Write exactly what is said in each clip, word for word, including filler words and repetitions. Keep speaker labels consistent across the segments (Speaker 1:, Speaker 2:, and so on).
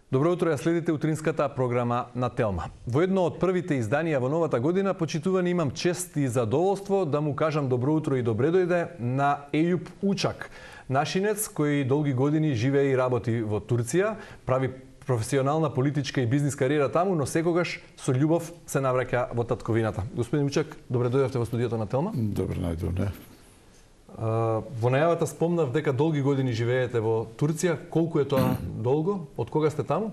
Speaker 1: Добро утро, ја следите утринската програма на Телма. Во едно од првите изданија во новата година, почитувани, имам чест и задоволство да му кажам добро утро и добре дојде на Ејуп Учак, нашинец кој долги години живее и работи во Турција, прави професионална политичка и бизнис кариера таму, но секогаш со љубов се навраќа во татковината. Господин Учак, добре дојдовте во студиото на Телма.
Speaker 2: Добре најдовте.
Speaker 1: Во најавата спомнав дека долги години живеете во Турција. Колку е тоа долго? Од кога сте таму?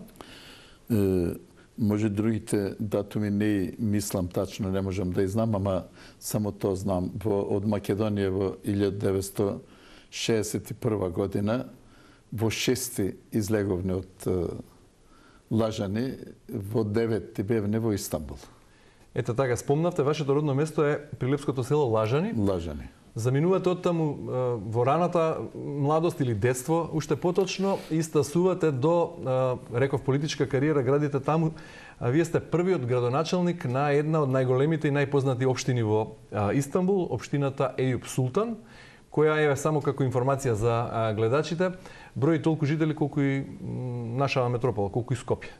Speaker 2: Е, може другите датуми не мислам тачно, не можам да знам, ама само тоа знам. Во, од Македонија во илјада деветстотини шеесет и прва година, во шести излеговне од е, Лажани, во деветти бевне во Истанбул.
Speaker 1: Ете така, спомнавте, вашето родно место е прилепското село Лажани.
Speaker 2: Лажани.
Speaker 1: Заминувате од таму во раната младост или детство, уште поточно, и стасувате до, реков, политичка кариера, градите таму. А вие сте првиот градоначалник на една од најголемите и најпознати општини во Истанбул, општината Ејуп Султан, која е, само како информација за гледачите, брои толку жители колку и нашава метропола, колку и Скопје.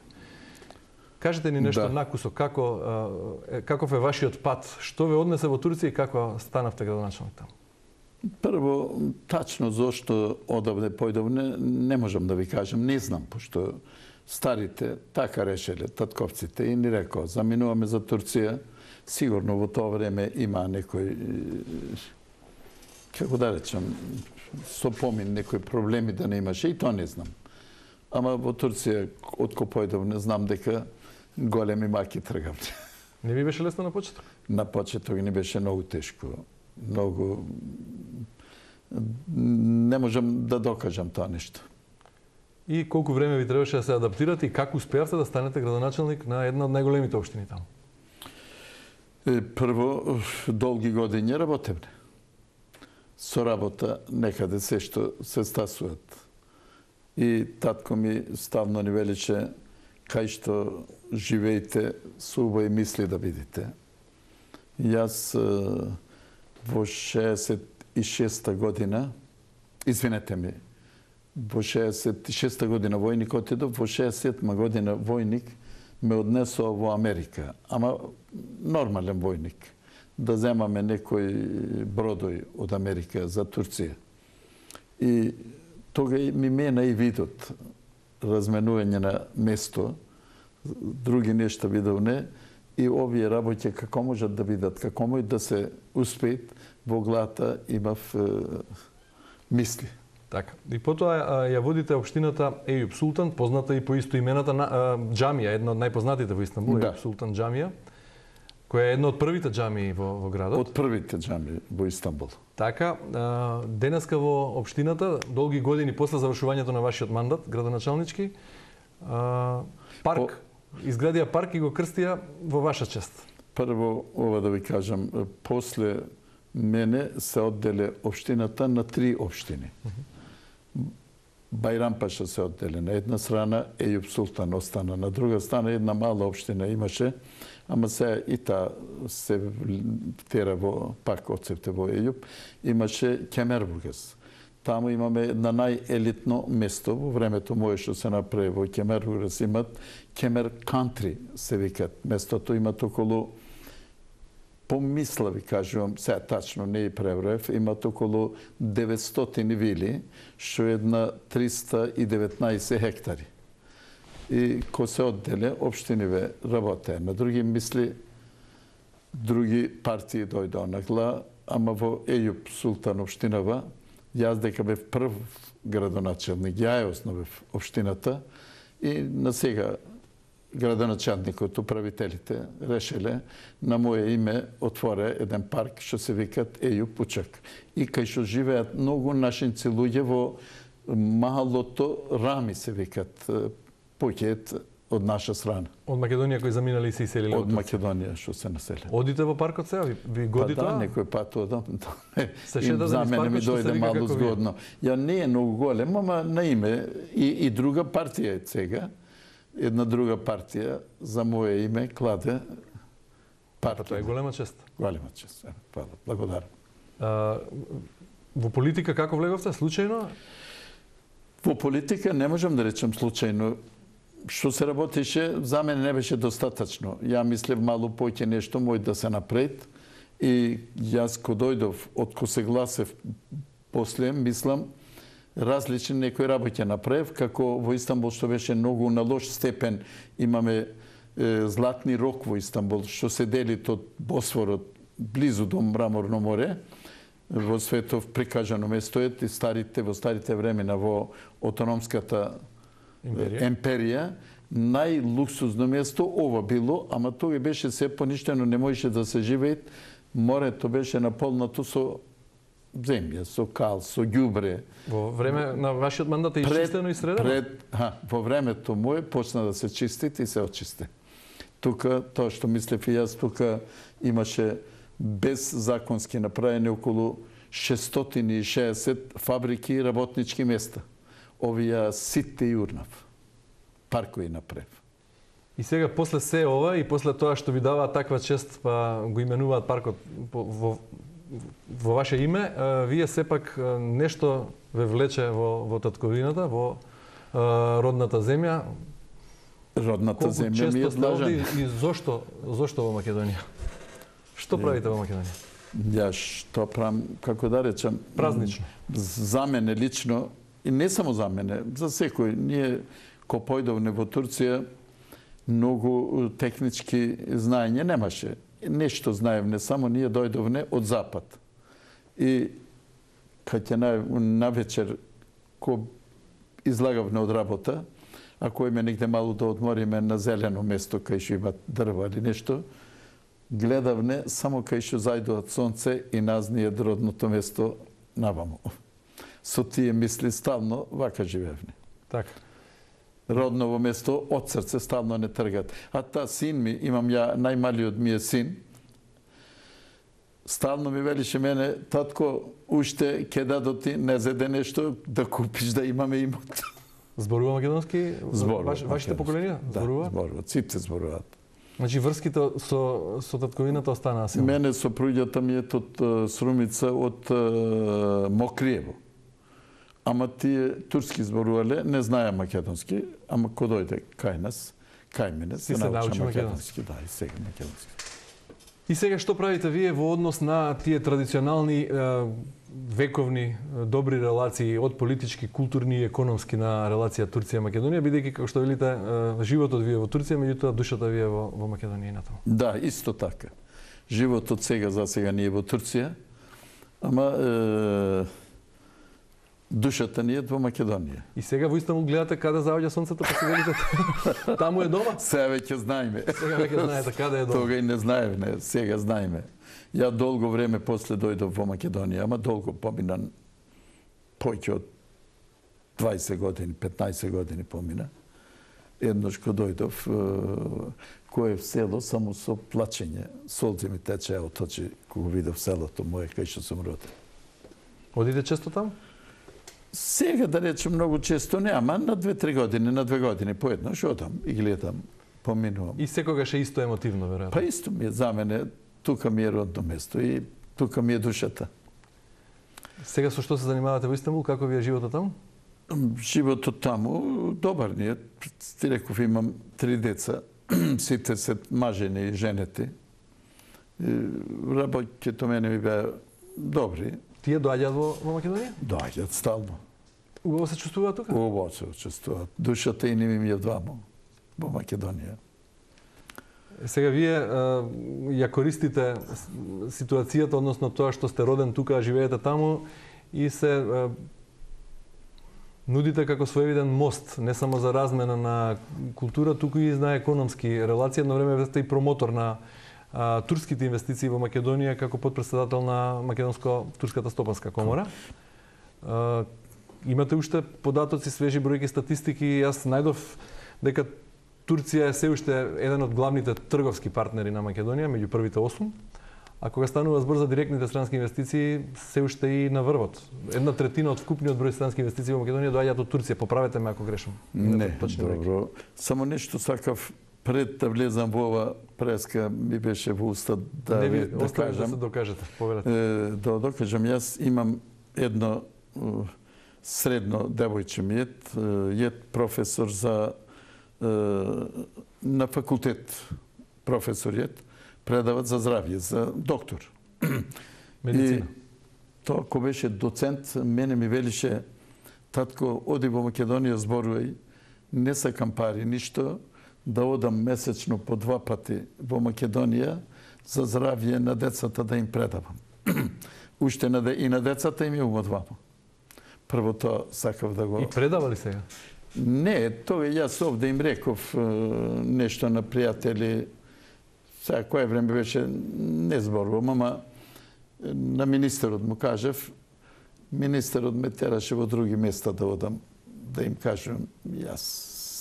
Speaker 1: Кажете ни нешто, да, накусо, како, каков е вашиот пат, што ве однесе во Турција и како станавте градоначалник таму?
Speaker 2: Прво, тачно зошто одавде појдовне, не можам да ви кажам, не знам, пошто старите така решеле, татковците, и ни рекоа, заминуваме за Турција, сигурно во тоа време има некој, како да речам, со помин некои проблеми да не имаше, и тоа не знам. Ама во Турција, од кој појдовне, знам дека големи маки тргавте.
Speaker 1: Не ви беше лесно на почеток?
Speaker 2: На почеток не беше многу тешко. Многу... Не можам да докажам тоа нешто.
Speaker 1: И колку време ви требаше да се адаптирате и како успеавте да станете градоначалник на една од најголемите општини таму?
Speaker 2: Прво, долги години работевне. Со работа некаде се што се стасуват. И татко ми ставно ни величе кај што живеете со убави мисли да видите. Јас во шеесет и шеста година, извинете ми, во шеесет и шеста година војник отидов, во шеесет и седма година војник ме однесоа во Америка, ама нормален војник, да земаме некој бродој од Америка за Турција. И тога ми мена и видот, разменување на место, други нешта видовне, и овие работи како можат да видат, како можат да се успеат, во главата имав е, мисли.
Speaker 1: Така. И потоа ја водите општината Ејуп Султан, позната и по истоимената на а, џамија, една од најпознатите во Истанбул, да. Ејуп Султан џамија, која е една од првите џамии во, во градот.
Speaker 2: Од првите џамии во Истанбул.
Speaker 1: Така, а, денеска во општината, долги години после завршувањето на вашиот мандат, градоначалнички, а, парк, По... изградија парк и го крстија во ваша чест.
Speaker 2: Прво, ова да ви кажам, после мене се одделе општината на три општини. Uh -huh. Бајрампаша се одделе на една страна, Ејуп Султан остана на друга страна, една мала општина имаше, ама се и та се тера во пак одсепте во Ејуп, имаше Кемербургас. Таму имаме една најелитно место во времето мое што се направи во Кемербургас, имат Кемер Кантри се викат. Местото имат околу, помисла ви кажувам, се тачно не и преброев, имат околу деветстотини вили, што е една триста и деветнаесет хектари. И ко се одделе, општиниве работе. На други мисли, други партии дојдоа на гла, ама во Ејуп Султан општинава, јас дека бев прв градоначалник, ја ја основев општината и на сега градоначалникот, управителите решеле на моје име отворе еден парк што се викат Ејуп Учак. И кај што живеат многу нашинци луѓе во малото Рами се викат поќет од наша страна.
Speaker 1: Од Македонија кои заминали и се иселиле?
Speaker 2: Од Македонија што се населе.
Speaker 1: Одите во паркот сега? Ви, ви годи
Speaker 2: па
Speaker 1: тоа?
Speaker 2: Да, некој пат одам.
Speaker 1: Се шета
Speaker 2: за мене ми дојде малку згодно. Ја не е многу голем, ама на име и, и друга партија е сега. Една друга партија за моје име кладе партија.
Speaker 1: Тоа е голема чест.
Speaker 2: Голема чест. Хвала. Благодарам.
Speaker 1: А, во политика како влеговте? Случајно?
Speaker 2: Во политика не можам да речам случајно. што се работеше, за мене не беше достатъчно. Ја мислев малу поќе нешто мој да се напред. И јас ко дојдов, од ко се гласев после, мислам, различни некои работи направив, како во Истанбул, што беше многу на лош степен. Имаме е, златни рок во Истанбул, што се дели од Босфорот, близу до Мраморно море, во светов прикажано место е, и старите, во старите времена во автономската империја, империја најлуксузно место ова било, ама тоа беше се поништено, не можеше да се живее. Морето беше наполнато со земја, со кал, со ѓубре.
Speaker 1: Во време на вашиот мандат е изчистено и средено?
Speaker 2: Пред, ха, во времето мое почна да се чисти и се очисти. Тука, тоа што мислев и јас, тука имаше без законски направени околу шестстотини и шеесет фабрики и работнички места. Овие сите јурнав. Паркови направив.
Speaker 1: И сега, после се ова и после тоа што ви даваат таква чест, па го именуваат паркот во, во ваше име, вие сепак нешто ве влече во, во татковината, во родната земја.
Speaker 2: Родната
Speaker 1: Колку
Speaker 2: земја ми е длажен.
Speaker 1: И зошто, зошто во Македонија? Што правите во Македонија?
Speaker 2: Ја што правам, како да речам,
Speaker 1: празнично.
Speaker 2: За мене лично, и не само за мене, за секој, ние ко појдовне во Турција, многу технички знаење немаше. Нешто знаевне, само ние дојдовне од запад. И кај ќе на, на вечер, ко излагавне од работа, ако име негде малу да одмориме на зелено место, кај што има дрва или нешто, гледавне само кај што зајдуваат сонце и назније родното место наваму. Со тие мисли стално вака живеевне.
Speaker 1: Така.
Speaker 2: Родново место од срце стално не тргат. А та син ми, имам ја, најмалиот ми е син, стално ми велише мене, татко, уште ке дадоти, не зеде нешто, да купиш, да имаме имот.
Speaker 1: Зборува македонски?
Speaker 2: Зборува.
Speaker 1: Ваш, вашите поколенија?
Speaker 2: Да,
Speaker 1: зборува?
Speaker 2: зборуваат. Сите зборуваат.
Speaker 1: Значи врските со, со татковината останаа силни?
Speaker 2: Мене сопруѓата ми е од Срумица, од Мокриево. Ама тие турски зборувале, не знаеа македонски, ама ко дојде кај нас, кај мене, се, се научи македонски. Да, и сега македонски.
Speaker 1: И сега што правите вие во однос на тие традиционални вековни добри релации од политички, културни и економски на релација Турција-Македонија, бидејќи, како што велите, животот ви е во Турција, меѓутоа душата ви е во, во Македонија и натаму?
Speaker 2: Да, исто така. Животот сега за сега не е во Турција, ама е, душата ни е во Македонија.
Speaker 1: И сега во Истанбул гледате каде заоѓа сонцето, па се велите таму е дома?
Speaker 2: Сега веќе знаеме.
Speaker 1: Сега веќе знаете каде е дома.
Speaker 2: Тога и не знаеме, сега знаеме. Ја долго време после дојдов во Македонија, ама долго помина, поќе од дваесет години, петнаесет години помина. Еднош ко дојдов, кое в село, само со плачење, солзи ми течеа од очи кога видов селото мое кај што сум роден.
Speaker 1: Одите често таму?
Speaker 2: Сега да речем многу често не, ама на две-три години, на две години поеднаш одам и гледам, поминувам.
Speaker 1: И секогаш е исто емотивно, веројатно.
Speaker 2: Па исто ми е за мене, тука ми е родно место и тука ми е душата.
Speaker 1: Сега со што се занимавате во Истанбул? Како ви е животот таму?
Speaker 2: Животот таму добар ни е. Ти реков, имам три деца, сите се мажени и женети. Работите мене ми беа добри.
Speaker 1: Тие доаѓаат во, во Македонија?
Speaker 2: Доаѓаат стално.
Speaker 1: Убаво се чувствуваат тука?
Speaker 2: Убаво се чувствуваат. Душата и ними ми е двамо во Македонија.
Speaker 1: Сега вие ја користите ситуацијата, односно тоа што сте роден тука, живеете таму и се нудите како своевиден мост, не само за размена на култура, туку и на економски релации. Едно време сте и промотор на а, турските инвестиции во Македонија како подпредседател на Македонско-турската стопанска комора. А, имате уште податоци, свежи бројки, статистики. Јас најдов дека Турција е се уште еден од главните трговски партнери на Македонија, меѓу првите осум. А кога станува збор за директните странски инвестиции, се уште и на врвот. Една третина од вкупниот број странски инвестиции во Македонија доаѓаат од Турција. Поправете ме ако грешам.
Speaker 2: Не, добро. Само нешто сакав пред да влезам во ова преска ми беше во уста да
Speaker 1: не ви
Speaker 2: ви да кажам.
Speaker 1: да се докажете. Поверете.
Speaker 2: Е, да докажам, јас имам едно средно девојче ми е, е професор за на факултет професоријат предават за здравје, за доктор.
Speaker 1: Медицина.
Speaker 2: И тоа кој беше доцент, мене ми велише, татко, оди во Македонија, зборувај, не сакам пари, ништо, да одам месечно по два пати во Македонија за здравје на децата да им предавам. Уште на, и на децата им имам двама. Прво тоа сакав да го...
Speaker 1: И предава ли сега?
Speaker 2: Не, тоа јас овде им реков нешто на пријатели. Сега кое време беше не зборувам, ама на министерот му кажев, министерот ме тераше во други места да одам, да им кажам, јас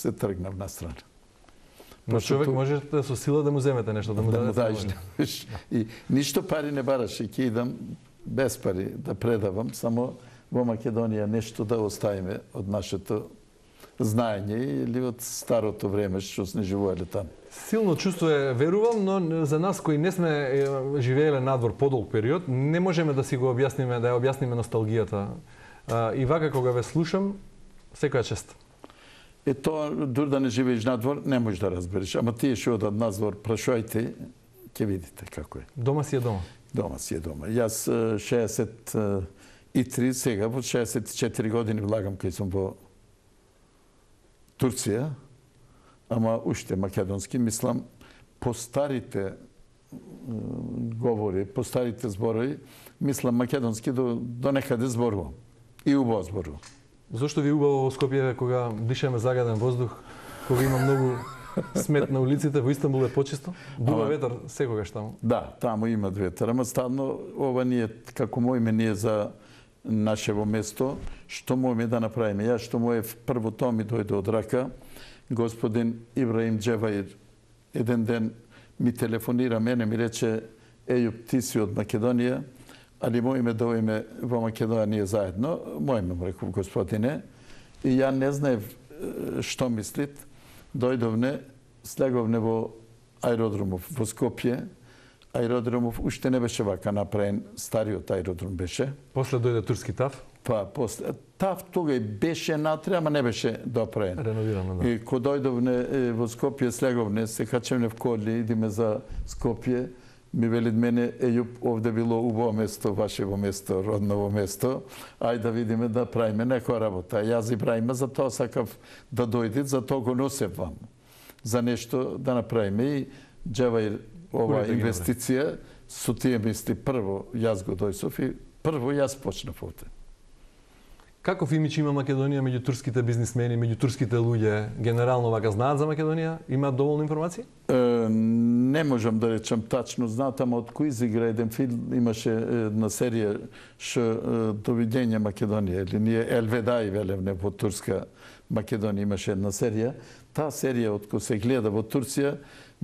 Speaker 2: се тргнав на страна.
Speaker 1: Но човек може со сила да му земете нешто, да му
Speaker 2: да
Speaker 1: дадете.
Speaker 2: И ништо пари не бараше, ќе идам без пари да предавам, само во Македонија нешто да оставиме од нашето знаење или од старото време што сме живееле таму.
Speaker 1: Силно чувство е, верувам, но за нас кои не сме живееле надвор подолг период, не можеме да си го објасниме, да ја објасниме носталгијата. И вака кога ве слушам, секоја чест.
Speaker 2: Е тоа, дур да не живееш надвор, не можеш да разбереш. Ама тие што одат надвор, прашајте, ќе видите како е.
Speaker 1: Дома си е дома?
Speaker 2: Дома си е дома. Јас шеесет и три, сега во шеесет и четири години влагам кај сум во Турција, ама уште македонски, мислам, по старите говори, по старите зборови, мислам македонски до, до некаде зборувам. И убаво зборувам.
Speaker 1: Зошто ви убаво во Скопје кога дишаме загаден воздух, кога има многу смет на улиците, во Истанбул е почисто? Дуva ветар секогаш таму?
Speaker 2: Да, таму има ветар, ама стално ова ние, како мојме ние за нашево место, што можеме да направиме. Јас што моев прво тоа ми дојде од рака, господин Ибраим Джеваир еден ден ми телефонира мене, ми рече, Ејуп, ти си од Македонија, али можеме да ојме во Македонија ние заедно. Можеме, му реков, господине. И ја не знаев што мислит. Дојдовне, слеговне во аеродромов во Скопје. Аеродромов уште не беше вака направен, стариот аеродром беше.
Speaker 1: После дојде турски ТАФ?
Speaker 2: Па, после. ТАФ тога беше натре, ама не беше доправен.
Speaker 1: Реновирано, да.
Speaker 2: И ко дојдовне во Скопје, слеговне, се качевне в коли, идиме за Скопје, ми велит мене, Ејуп, овде било убаво место, вашево место, родново место, ај да видиме да правиме некоја работа. Јас и правиме, за тоа сакав да дојдит, за тоа го носев вам. За нешто да направиме. И Джеваир ова инвестиција, со тие мисли, прво јас го дојсов и прво јас почнав овде.
Speaker 1: Каков имидж има Македонија меѓу турските бизнисмени, меѓу турските луѓе? Генерално вака знаат за Македонија? Имаат доволно информации?
Speaker 2: Е, не можам да речам тачно знаат, ама од кој изигра еден филм имаше една серија што Довидење Македонија или ние Елведај велевне во турска Македонија имаше една серија. Таа серија од кој се гледа во Турција,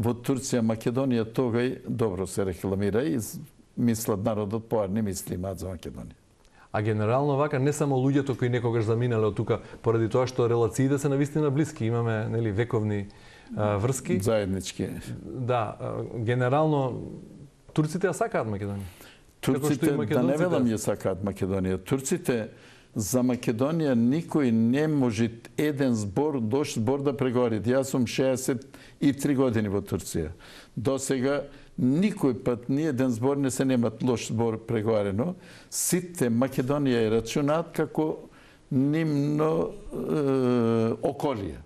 Speaker 2: во Турција Македонија тогај добро се рекламира и мислат народот поарни мисли имаат за Македонија.
Speaker 1: А генерално вака не само луѓето кои некогаш заминале од тука, поради тоа што релациите се навистина блиски, имаме нели вековни а, врски.
Speaker 2: Заеднички.
Speaker 1: Да, а, генерално турците ја сакаат Македонија.
Speaker 2: Турците, да не велам ја сакаат Македонија. Турците за Македонија никој не може еден збор, дош збор да преговори. Јас сум шеесет и три години во Турција. До сега никој пат ни еден збор не се немат лош збор преговарено. Сите Македонија е рачунаат како нивно е, околие.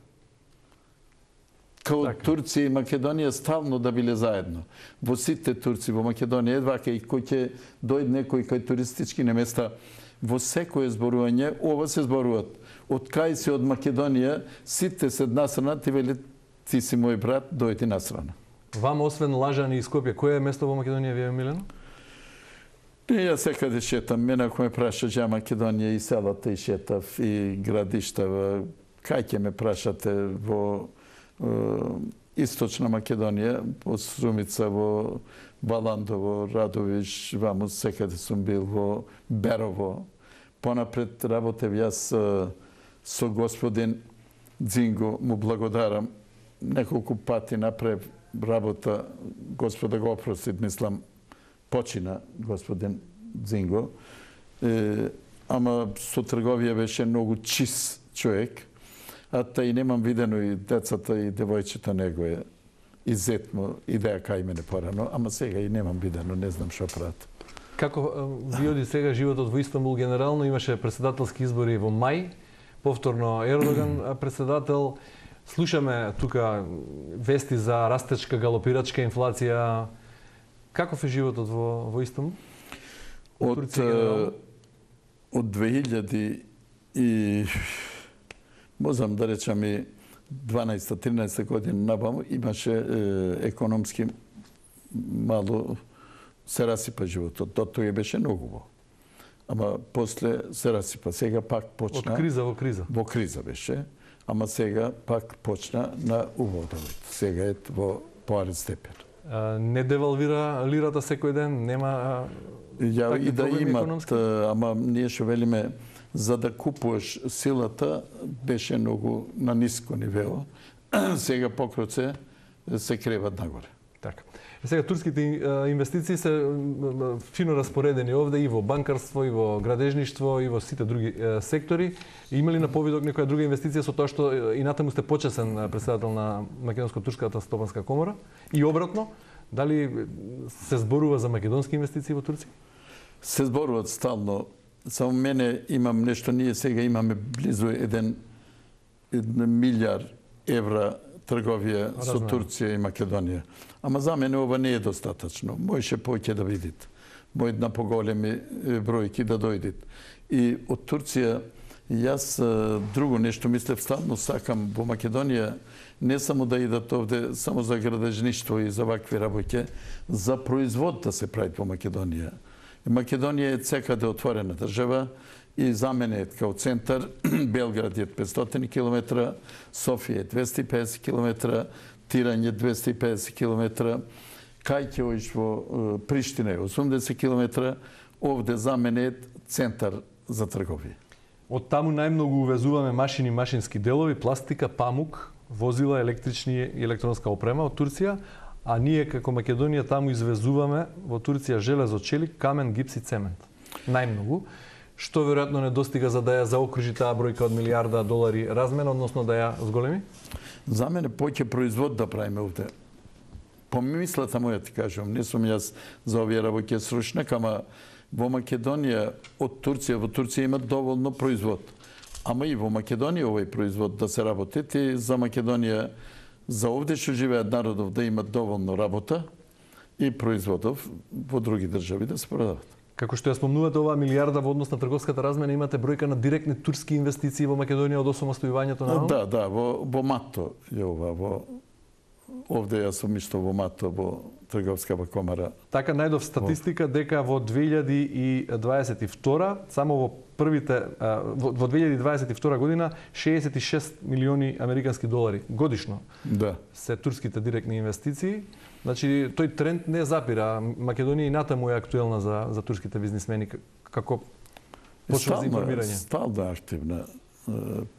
Speaker 2: Као така. Турција и Македонија ставно да биле заедно. Во сите турци во Македонија едвака и кој ќе дојде некој кај туристички места, во секое зборување ова се зборуваат. Од кај си од Македонија, сите се насрана, ти велит ти си мој брат, дојди насрана.
Speaker 1: Вам, освен Лажани и Скопје, кој е место во Македонија ви е милено?
Speaker 2: Не, јас секаде шетам. Мене ако ме праша за Македонија и селата и шетав и градиштава, кај ќе ме прашате во е, Источна Македонија, во Срумица, во Баландово, Радовиш, ваму секаде сум бил во Берово. Понапред работев јас со господин Дзинго, му благодарам. Неколку пати направив работа, Господа го опростит, мислам, почина господин Дзинго. Е, ама со трговија беше многу чист човек. а та и немам видено и децата и девојчето негове и зетмо идеја кај мене порано, ама сега и немам видено, не знам што прават.
Speaker 1: Како ви оди сега животот во Истанбул генерално? Имаше председателски избори во мај, повторно Ердоган председател. Слушаме тука вести за растечка, галопирачка инфлација. Каков е животот во, во Истанбул?
Speaker 2: Од, од две илјади и можам да речам и дванаесета-тринаесета година наваму имаше е, економски мало се расипа животот. До тоа беше многу во. Ама после се расипа. Сега пак почна...
Speaker 1: Од криза во криза.
Speaker 2: Во криза беше. Ама сега пак почна на уводовот. Сега е во поарен степен.
Speaker 1: А, не девалвира лирата секој ден? Нема
Speaker 2: Ја и да имат,
Speaker 1: економски?
Speaker 2: ама ние што велиме, за да купуваш силата, беше многу на ниско нивело. Сега покроце се креват нагоре.
Speaker 1: Така. И сега турските инвестиции се фино распоредени овде и во банкарство, и во градежништво, и во сите други сектори. Има ли на повидок некоја друга инвестиција со тоа што и натаму сте почесен председател на Македонско-турската стопанска комора? И обратно, дали се зборува за македонски инвестиции во Турција?
Speaker 2: Се зборуваат стално. Само мене имам нешто, ние сега имаме близу еден, еден милиар евра трговија со Турција и Македонија. Ама за мене ова не е достатачно. Можеше повеќе да видите. Мојд на поголеми бројки да дојдат. И од Турција јас друго нешто мислев, стално сакам во Македонија не само да идат овде само за градежништво и за вакви работи, за производ да се прави во Македонија. Македонија е секаде отворена држава и за мене е као центар. Белград е петстотини километра, Софија е двесте и педесет километра, Тиран е двесте и педесет километра, Кајќевојш во Приштина е осумдесет километра. Овде за мене е центар за трговија.
Speaker 1: Од таму најмногу увезуваме машини, машински делови, пластика, памук, возила, електрични и електронска опрема од Турција, а ние како Македонија таму извезуваме во Турција железо, челик, камен, гипс и цемент. Најмногу, што веројатно не достига за да ја заокружи таа бројка од милијарда долари размена, односно да ја зголеми?
Speaker 2: За мене поќе производ да правиме овде. Помислата моја ти кажам, не сум јас за овие работи сручнак, ама во Македонија од Турција во Турција имат доволно производ. Ама и во Македонија овој производ да се работи и за Македонија, за овде што живеат народов да имат доволно работа и производов во други држави да се продават.
Speaker 1: Како што ја спомнувате оваа милијарда во однос на трговската размена, имате бројка на директни турски инвестиции во Македонија од осамостојувањето на?
Speaker 2: Да, да, во, во МАТО е ова, во овде јас сум исто во МАТО, во трговската комара.
Speaker 1: Така најдов статистика дека во две илјади дваесет и втора, само во првите во, во две илјади дваесет и втора година шеесет и шест милиони американски долари годишно.
Speaker 2: Да.
Speaker 1: Се турските директни инвестиции. Значи тој тренд не запира. Македонија и натаму е актуелна за за турските бизнисмени како почва за информирање.
Speaker 2: Стална активна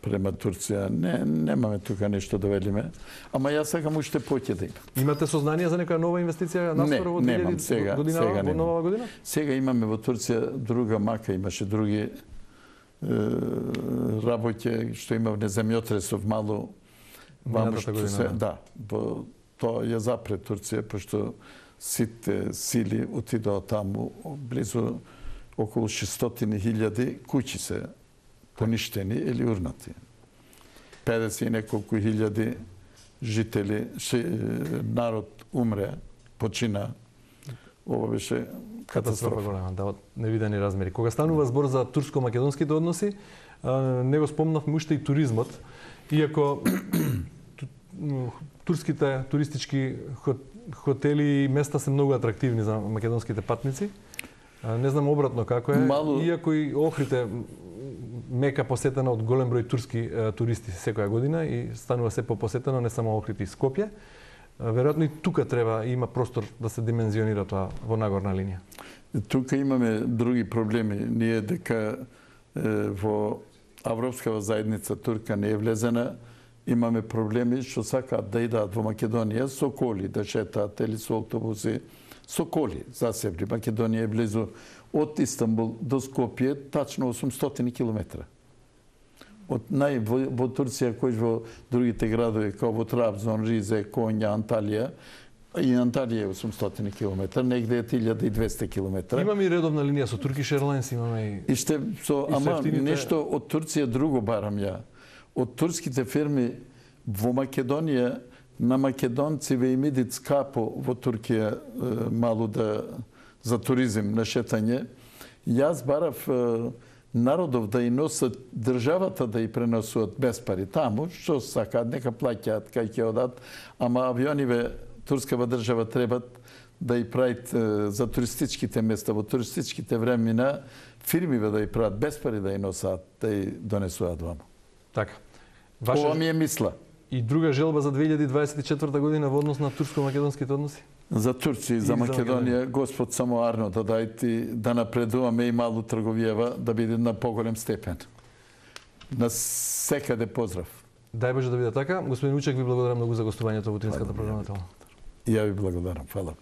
Speaker 2: према Турција. Не, немаме тука нешто да велиме. Ама јас сакам уште поќе да има.
Speaker 1: Имате сознание за некоја нова инвестиција наскоро во две илјади година,
Speaker 2: сега
Speaker 1: во нова година?
Speaker 2: Сега имаме во Турција друга мака, имаше други е, работи што има в земјотресов мало ваму што се, да, во тоа ја запре Турција, пошто сите сили отидоа таму, близу околу шестстотини хиљади куќи се поништени или урнати. педесет и неколку хиљади жители, народ умре, почина. Ова беше катастрофа.
Speaker 1: Голема, да, од невидени размери. Кога станува збор за турско-македонските односи, не го спомнавме уште и туризмот, иако турските туристички хотели и места се многу атрактивни за македонските патници. Не знам обратно како е, Мало... иако и Охрид мека посетена од голем број турски туристи секоја година и станува се попосетено не само Охрид и Скопје. Веројатно и тука треба има простор да се димензионира тоа во нагорна линија.
Speaker 2: Тука имаме други проблеми. Ние дека е, во Авропскава заедница Турка не е влезена, имаме проблеми што сакаат да идат во Македонија со коли, да шетаат или со автобуси, со коли засебни. Македонија е близу од Истанбул до Скопје, тачно осумстотини километра. од нај во, во Турција, кој во другите градови, како во Трабзон, Ризе, Конја, Анталија, и Анталија е осумстотини километри, негде е илјада и двесте километри.
Speaker 1: Имаме и редовна линија со Turkish Airlines, имаме и...
Speaker 2: И ще, со,
Speaker 1: и
Speaker 2: ама
Speaker 1: ефтините...
Speaker 2: нешто од Турција друго барам ја. Од турските фирми во Македонија, на македонциве им идит скапо во Туркија малу да за туризм на шетање. Јас барав народов да и носат, државата да и преносуват без пари таму, што сакаат, нека плаќаат кај ќе одат, ама авиониве турскава држава требат да и правит за туристичките места, во туристичките времена, фирмиве да и прават без пари да и носат, да и донесуваат ваму.
Speaker 1: Така.
Speaker 2: Ваша... Ова ми е мисла.
Speaker 1: И друга желба за две илјади дваесет и четврта година во однос на турско-македонските односи?
Speaker 2: За Турција и за Македонија, Господ само арно да дајти, да напредуваме и малу трговијава, да биде на поголем степен. На секаде поздрав.
Speaker 1: Дај Боже да биде така. Господин Учек, ви благодарам многу за гостувањето во утринската програма.
Speaker 2: И ја ви благодарам. Фала.